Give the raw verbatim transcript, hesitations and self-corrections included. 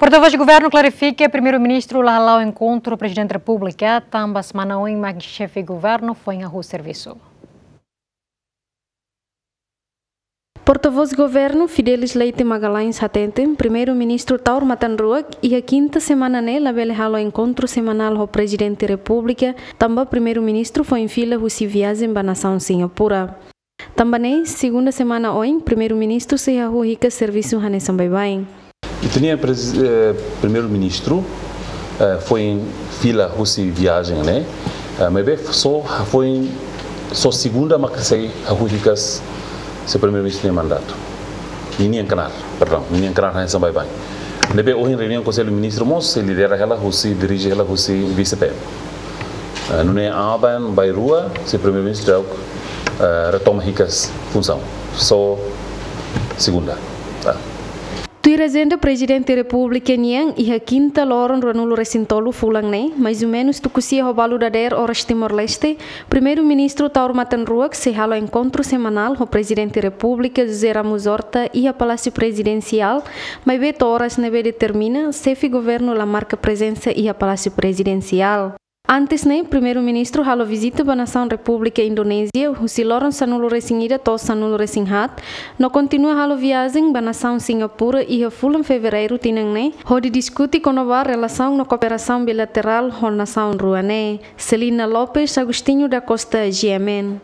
Portavós Governu klarifika, Primeiru-Ministru la hala'o enkontru ho Prezidente Repúblika, tanba semana oin mak Xefe Governu foin hahú servisu. Portavós Governu, Fidelis Leite Magalhães, hateten Primeiru-Ministru Taur Matan Ruak iha kinta semana ne'e labele halo enkontru semanál ho Prezidente Repúblika, tanba Primeiru-Ministru foin fila husi viajen ba nasaun Singapura. Tanba ne'e, segunda semana oin, Primeiru-Ministru sei hahú hikas servisu hanesan baibain. Ita-nia prez-, eh, Primeiru-Ministru, eh, foin fila husi viajen ne'e, eh, maibé só foin, só segunda mak sei hahú hikas sei Primeiru-Ministru nia mandatu. Ninian knaar, perdão, ninian knaar hanesan baibain. Ne'ebé ohin reuniaun Konsellu Ministru mós sei lidera hela husi, dirije hela husi Vise-PM. Eh, nune'e aban-bainrua sei Primeiru-Ministru daudaun, eh, retoma hikas funsaun. Só segunda. Ah. Tuir ajenda Prezidente Repúblika nian, iha kinta loron ruanulu-resin-tolu fulan ne'e, mais ou menus tuku sia ho balu dadeer oras Timor-Leste, Primeiru-Ministru Taur Matan Ruak sei halo enkontru semanál ho Prezidente Repúblika José Ramos Horta iha Palásiu Prezidensiál, maibé to'o oras ne'ebé determina, Xefe Governu la marka prezensa iha Palásiu Prezidensiál. Antes ne'e, Primeiru-Ministru halo vizita ba nasaun Repúblika Indonézia, husi loron sanulu-resin-ida to'o sanulu-resin-haat, no kontinua halo viajen ba nasaun Singapura iha fulan Fevereiru tinan ne'e, hodi diskute kona-ba relasaun no kooperasaun bilaterál ho nasaun rua ne'e. Celina Lopes, Agostinho da Costa, G M N.